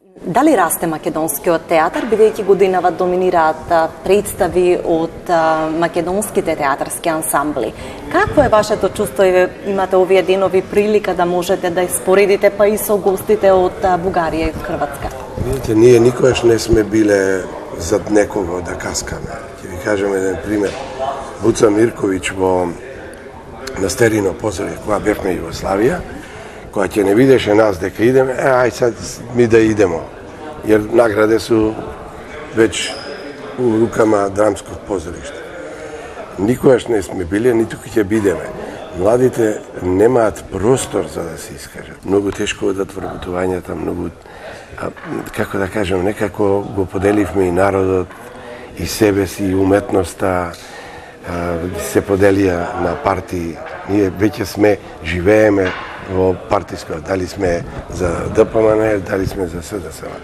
Дали расте македонскиот театар, бидејќи годинава доминираат представи од македонските театарски ансамбли? Какво е вашето чувство? Имате овие денови прилика да можете да испоредите па и со гостите од Бугарија и Хрватска? Видите, ние никогаш не сме биле зад некого да каскаме. Ќе ви кажам еден пример. Буца Мирковиќ во Настерино позориšte, кога бевме Југославија, кога ќе не видеше нас дека идеме, ај сад ми да идемо. Jer nagrade su već u rukama dramskog pozorišta. Никогаш не сме биле, ниту ќе бидеме. Младите немаат простор за да се искажат. Многу тешко одат вработувањата, многу, како да кажем, некако го поделивме и народот, и себе си, и уметноста, се поделија на партии. Ние веќе сме, живееме во партиско, дали сме за ДПМН, дали сме за СДСМ.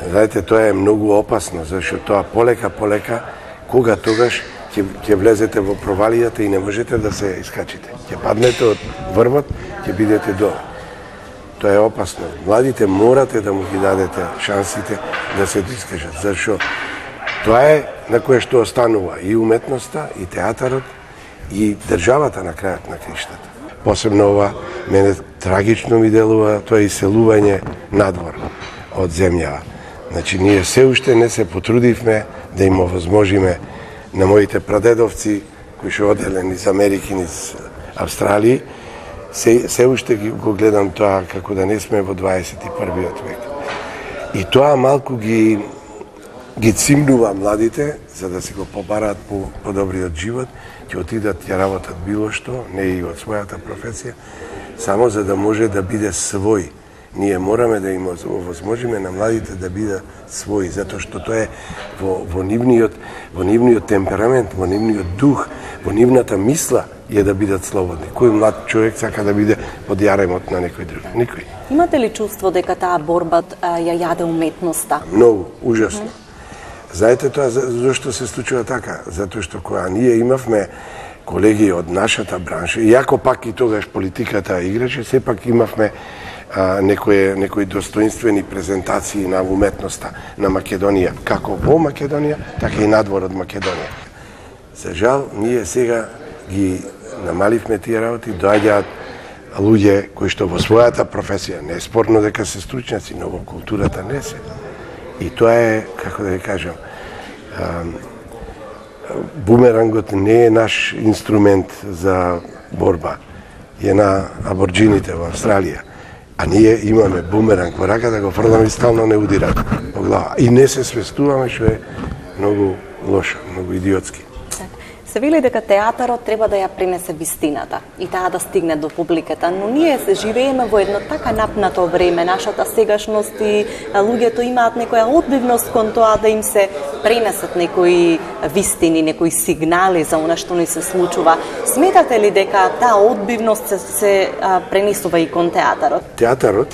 Знаете, тоа е многу опасно, зашто тоа полека, кога тогаш ќе влезете во провалијата и не можете да се искачите. Ќе паднете од врвот, ќе бидете долу. Тоа е опасно. Младите морате да му ги дадете шансите да се искажат, зашто тоа е на кое што останува и уметноста, и театарот, и државата на крајот на криштата. Посебно ова, мене трагично ми делува тоа иселување надвор од земјава. Значи, ние се уште не се потрудивме да им овозможиме на моите прадедовци, кои што оделе низ Америки, низ Австралија, се уште го гледам тоа како да не сме во 21. век. И тоа малку ги цимнува младите, за да си го побараат по добриот живот, ќе отидат ќе работат било што, не и од својата професија, само за да може да биде свој. Ние мораме да им овозможиме на младите да бидат своји, затоа што тоа е во нивниот темперамент, во нивниот дух, во нивната мисла е да бидат слободни. Кој млад човек сака да биде под јаремот на некој друг? Никој. Имате ли чувство дека таа борба ја јаде уметноста? Многу, ужасно. Знаете тоа зашто се случува така? Затоа што кога ние имавме колеги од нашата бранша, иако пак и тогаш политиката играше, сепак имавме некои достоинствени презентации на уметноста на Македонија, како во Македонија, така и надвор од Македонија. За жал, ние сега ги намаливме тие работи, доаѓаат луѓе кои што во својата професија, не е спорно дека се стручњаци, но во културата не се. И тоа е, како да ви кажам, бумерангот не е наш инструмент за борба. Е на аборџините во Австралија. А ние имаме бумеранг во рака да го фрламе и стално не удира по глава. И не се свестуваме, што е многу лошо, многу идиотски. Се вели дека театарот треба да ја принесе вистината и таа да стигне до публиката, но ние се живееме во едно така напнато време, нашата сегашност и луѓето имаат некоја одбивност кон тоа да им се пренесат некои вистини, некои сигнали за она што ни се случува. Сметате ли дека таа одбивност се пренесува и кон театарот? Театарот,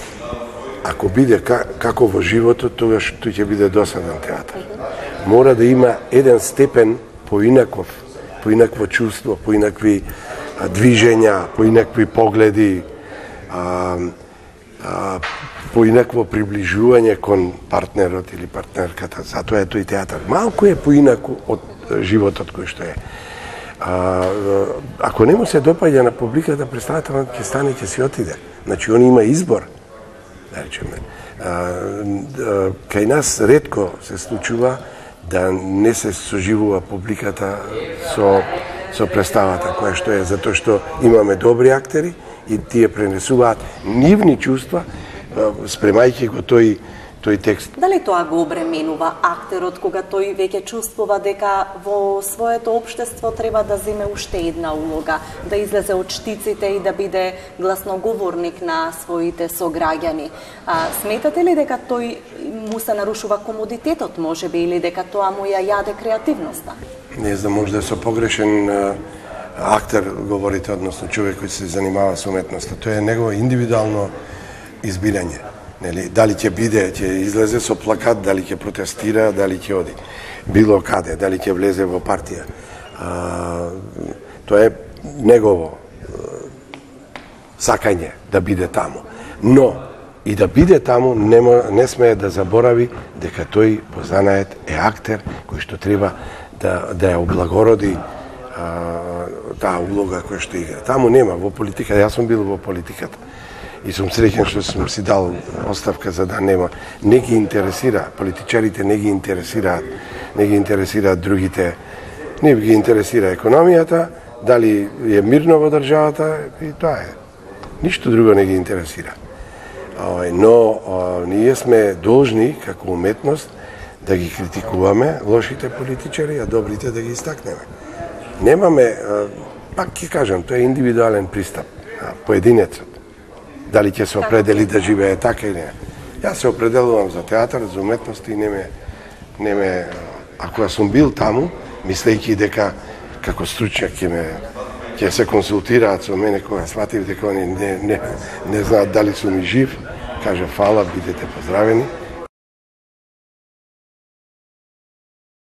ако биде како во животот, тогаш тој ќе биде досаден театар. Мора да има еден степен поинакво чувство, поинакви движења, поинакви погледи, поинакво приближување кон партнерот или партнерката. Затоа е тој театар. Малку е поинако од животот кој што е. Ако не му се допаѓа на публиката, представителот ќе стане, ќе си отиде. Значи, он има избор. Да речеме. Кај нас ретко се случува да не се соживува публиката со представата која што е, затоа што имаме добри актери и тие пренесуваат нивни чувства спремајќи го тој текст. Дали тоа го обременува актерот кога тој веќе чувствува дека во своето општество треба да земе уште една улога, да излезе од штиците и да биде гласноговорник на своите сограѓани? Сметате ли дека тој му се нарушува комодитетот, можеби, или дека тоа му ја јаде креативноста? Не знам, може да со погрешен актер говорите, односно човек кој се занимава со уметноста. Тоа е негово индивидуално избирање. Дали ќе биде, ќе излезе со плакат, дали ќе протестира, дали ќе оди било каде, дали ќе влезе во партија. Тоа е негово сакање да биде таму. Но и да биде таму, не смее да заборави дека тој по занаед е актер кој што треба да ја облагороди таа улога која што игра. Таму нема во политика, јас сум бил во политиката и сум среќен што сум си дал оставка за да нема. Не ги интересира, политичарите не ги интересираат другите, не ги интересира економијата, дали е мирно во државата и тоа е. Ништо друго не ги интересира. Но ние сме должни како уметност да ги критикуваме лошите политичари, а добрите да ги истакнеме. Немаме, пак ќе кажам, тоа е индивидуален пристап, поединецот. Дали ќе се определи да живее така или не. Јас се определувам за театар, за уметност и не ме, ако ја сум бил таму, мислејќи дека како стручњак ќе се консултираат со мене кога сватив дека они не знаат дали сум и жив, кажа фала, бидете поздравени.